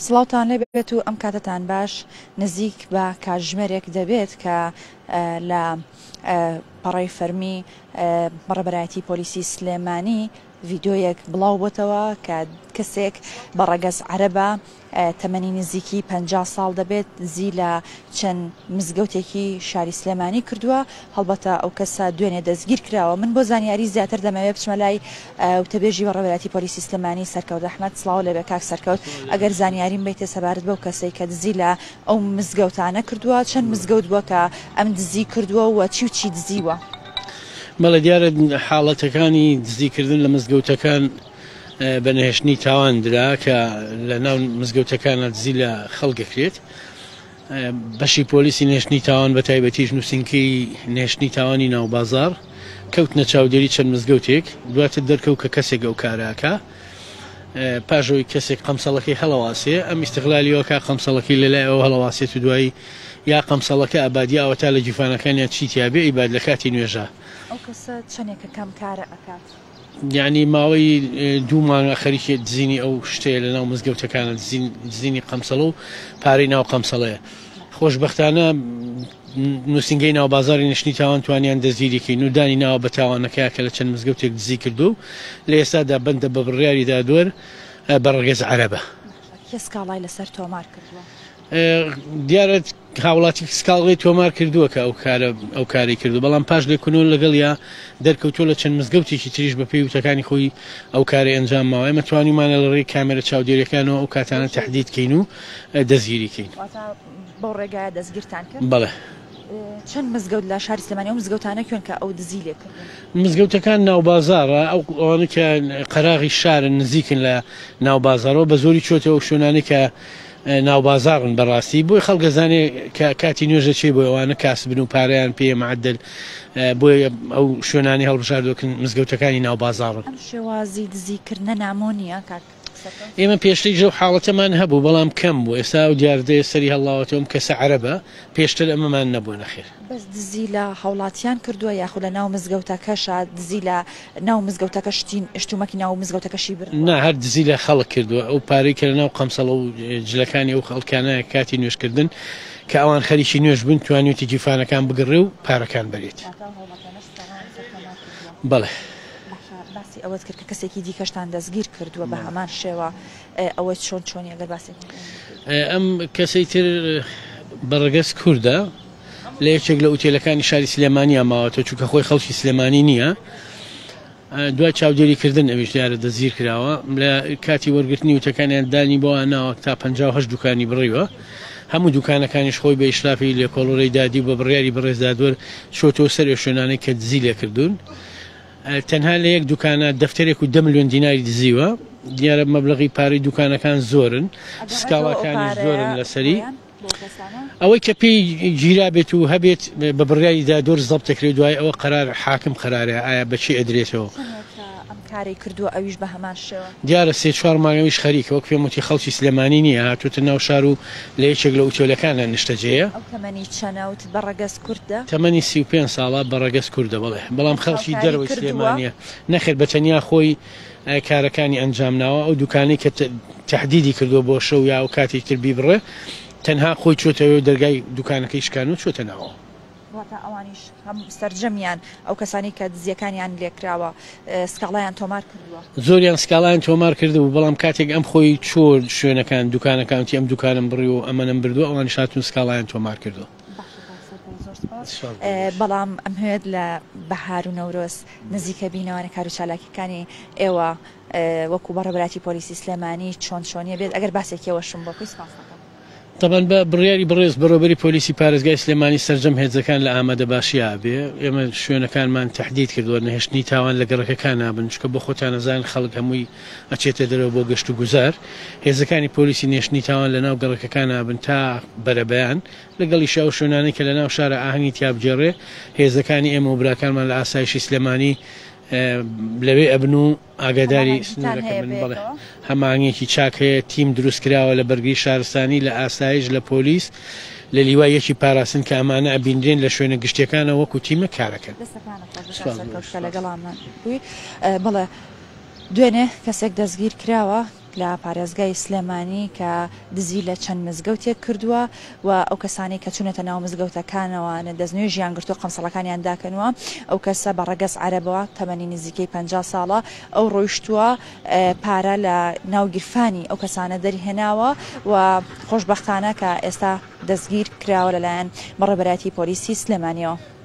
سڵاوتان لێبێت و ئەم کاتەتان باش نزیک بە کاتژمێرێک دەبێت کە لە پەڕەی فەرمی بەڕێبەرایەتی پۆلیسی سلێمانی ڤیدیۆیەک بڵاو بۆتەوە کە کەسێک بە ڕەگەز عەرەبە تەمەنی نزیکی 50 ساڵ دەبێت دزی لە چەند مزگەوتێکی شاری سلێمانی کردووە هەڵبەتە ئەو کەسە دوێنێ دەستگیر کراوە من بۆ زانیاری زیاتر دەمەوێت بچمە لای وتەبێژی بەڕێوەبەرایەتی پۆلیسی سلێمانی سەرکەوت ئەحمەد سڵاو لێبێ کاک سەرکەوت ئەگەر زانیاریم بیتێ سەبارەت بەو کەسەی کە دزی لە ئەو مزگەوتانە کردووە چەند مزگەوت بووە کە ئەم دزی کردووە و چی و چی دزیوە؟ بەڵێ دیارە حاڵەتەکانی دزیکردن لە مزگەوتەکان بە نەهێشتنی تاوان درا کە لە ناو مزگەوتەکانە دزی لە خەڵک دەکرێت. بەشی پۆلیسی نەهێشتنی تاوان بە تایبەتیش نووسینگەی نەهێشتنی تاوانی ناوبازاڕ کەوتنە چاودێری چەند مزگەوتێک، دواتر دەرکەوت کە کەسێک ئەو کارە ئەکا. پاش ئەوەی کەسێک قەمسەڵەکەی هەڵەواسێ ئەم ئیستغلالی ئەوە کا قەمسەڵەکەی لە لای ئەوە هەڵەواسێت و دوایی یا قەمسەڵەکە ئەبات یا ئەوەتا لە گیرفانەکانیا چی تیا بێ ئەیبات لە کاتی نوێژا. ئەو کەسە چەنێکە کەم کارە ئەکات؟ یانی ماوەی دوو مانگە خەریکی دزینی ئەو شتەیە لە ناو مزگەوتەکانە دزینی قەمسەڵە و پارەی ناو قەمسەڵەیە. خۆشبەختانە نووسینگەی ناوبازاڕی نشتنی تاوان توانیان دەستگیری کەین و دانی ناوە بە تاوانەکەیا کە لە چەند مزگەوتێک دزی کردووە و لە ئێستادا بەندە بە بڕیاری دادوەر بە ڕەگەز عەرەبە. کێ سکاڵای لەسەر تۆمار کردووە؟ دیارە هاوڵاتی سکاڵای تۆمار کردووە کە ئەو کارە ئەو کارەی کردووە، بەڵام پاش لێکۆڵینەوە لەگەڵیا دەرکەوتووە لە چەند مزگەوتێکی تریش بەپێی وتەکانی خۆی ئەو کارەی ئەنجام ماوە. ئێمە توانیومانە لە ڕێی کامێرە چاودێرییەکانەوە ئەو کاتانە تەحدید کەین و دەستگیری کەین. واتە بەو ڕێگایە دەستگیرتان کرد؟ بەڵێ. چەند مزگەوت لە شاری سلێمانی ئەو مزگەوتانە کوێن کە ئەو دزی لێ کردوون؟ مزگەوتەکان ناوبازاڕە، ئەو ئەوانەی کە قەراغی شارن نزیکن لە ناوبازاڕەوە بەزۆری چۆتە ئەو شوێنانەی کە ناوبازاڕن بەڕاستی بۆی خەڵک ئەزانێ کە کاتی نوێژە چێ بۆی ئەوانە کاسبن و پارەیان پێیە معدل بۆیە ئەو شوێنانەی هەڵبژاردووە کە مزگەوتەکانی ناوبازاڕن. ئەم شێوازی دزیکردنە نامۆ نییە کاک سەرکەوت؟ ئێمە پێشتریش ئەو حاڵەتەمان هەبوو بەڵام کەم بوو ئێستا ئەو دیاردەیە سەری هەڵڵاوەتەوە ئەم کەسە عەرەبە پێشتر ئەمەمان نەبووە نەخێر. بەس دزی لە هاوڵاتیان کردووە یاخود لە ناو مزگەوتەکەشا دزی لە ناو مزگەوتەکە شتی شتومەکی ناو مزگەوتەکەشی بردووە؟ نا هەر دزی لە خەڵک کردووە ئەو پارەی کە لە ناو قەمسەڵە و جلەکانی ئەو خەڵکانە کاتی نوێژ کردن کە ئەوان خەریکی نوێژ بوون توانیویەتی گیرفانەکان بگڕێ و پارەکان بەرێت. واتە ئەو هاوڵاتیانەش سکاڵایان لەسەر تۆمار کردووە؟ بەڵێ. باشە باسی ئەوەت کرد کە کەسێکی دیکەشتان دەستگیر کردووە بە هەمان شێوە ئەوە چۆن چۆنی ئەگەر باسێکی بۆ بکەیت؟ ئەم کەسەی تر بە ڕەگەز کوردە لە یەکێک لە ئوتێلەکانی شاری سلێمانیا ماوەتەوە چونکە خۆی خەڵکی سلێمانی نییە دوای چاودێریکردن ئەویش دیارە دەستگیر کراوە لە کاتی وەرگرتنی وتەکانیان دانی بۆ ناوە تا 58 دوکانی بڕیوە هەموو دوکانەکانیش خۆی بە ئیشرافی لێکۆڵەرەی دادی و بە بڕیاری بەڕێز دادوەر چۆتەوە سەر ئەو شوێنانەی کە دزی لێکردوون تەنها لە یەک دوکانە دەفتەرێک و دە ملیۆن دیناری دزیوە، دیارە مەبلەغی پارەی دوکانەکان زۆرن، سکاڵاکانیش زۆرن لەسەری، ئەوەی کە پێی گیرابێت و هەبێت بە بڕیاری دادوەر زەبت دەکرێت، دوای ئەوە قەرار حاکم قەرارە ئایا بە کێ ئەدرێتەوە. چەندێکە ئەم کارەی کردووە ئەویش بە هەمان شێوە؟ دیارە سێ چوار مانگ ئەویش خەریکە، وەک پێم وتی خەڵکی سلێمانی نییە، هاتووەتە ناو شار و لە یەکێک لە ئوتێلەکانە نیشتەجێیە. ئەو تەمەنی چەنە وتت بە ڕەگەز کوردە؟ تەمەنی 35 ساڵە بە ڕەگەز کوردە بەڵێ، بەڵام خەڵکی هاوکاری دەرەوەی کردووە؟ سلێمانییە. نەخێر بە تەنیا خۆی کارەکانی ئەنجام ناوە، ئەو دوکانەی کە تەحدیدی کردووە بۆ شەو یا ئەو کاتێکی تر بیبڕێ تەنها خۆی چۆتەوێ و دەرگای دوکانەکەی شکاندووە چۆتە ناوەوە. واتە ئەوانیش هەم سەرجەمیان ئەو کەسانەی کە دزیەکانیان لێکراوە سکاڵایان تۆمار کردووە؟ زۆریان سکاڵایان تۆمار کردبوو، بەڵام کاتێک ئەم خۆی چووە شوێنەکان دوکانەکان وتی ئەم دوکانەم بڕیوە و ئەمەنەم بردووە ئەوانیش هاتوون سکاڵایان تۆمار کردووە. باشە کاک سەرکەوت زۆر سوپاس. سوپاس بۆ ئێوەش. بەڵام ئەمهەوێت لە بەهار و نەورۆز نزیکە بینەوانە کارو چالاکیەکانی ئێوە وەکو بەڕێوەبەرایەتی پۆلیسی سلێمانی چۆن چۆنیە بێت ئەگەر باسێکی ئەوەشم بۆ بکەی سوپاست دەکەم. تەبعەن بە بڕیاری بەڕێز بەڕێوەبەری پۆلیسی پارێزگای سلێمانی سەرجەم هێزەکان لە ئامادەباشیا بێ، ئێمە شوێنەکانمان تەحدید کردووە، نەهێشتنی تاوان لە گەڕەکەکان نابن، چونکە بۆ خۆتان ئەزانن خەڵک هەمووی ئەچێتە دەرەوە بۆ گەشت و گوزار، هێزەکانی پۆلیسی نەهێشتنی تاوان لە ناو گەڕەکەکان نابن تا بەرەبەیان، لەگەڵیشا ئەو شوێنانەی کە لە ناو شارا ئاهەنگی تیا بگێڕێ هێزەکانی ئێمە و براکانمان لە ئاسایشی سلێمانی لەوێ ئەبن و ئاگاداری هەماهەنگیتان سنوورەکە هەیە بن. بەڵێ بەیەکەوە؟ هەماهەنگیەکی چاک هەیە، تیم دروست کراوە لە بەرگری شارستانی، لە ئاسایش، لە پۆلیس، لە لیوای یەکی پاراستن کە ئەمانە ئەبینرێن لە شوێنە گشتیەکانەوە وەکو تیمێک کارەکەن. دەستەکانت خۆش بێت کاک سوپاس بۆ سەرکەوت کە سوپاس. لەگەڵامان بووی. بەڵێ دوێنێ کەسێک دەستگیر کراوە. لە پارێزگای سلێمانی کە دزی لە چەند مزگەوتێک کردووە و ئەو کەسانەی کە چوونەتە ناو مزگەوتەکانەوە دەستنوێژیان گرتووە قەمسەڵەکانیان داکەنووە. ئەو کەسە بە ڕەگەز عەرەبە، تەمەنی نزیکەی 50 ساڵە. ئەو ڕۆیشتووە پارە لە ناو گیرفانی ئەو کەسانە دەرهێناوە و خۆشبەختانە کە ئێستا دەستگیر کراوە لەلایەن بەڕێوەبەرایەتی پۆلیسی سلێمانیەوە.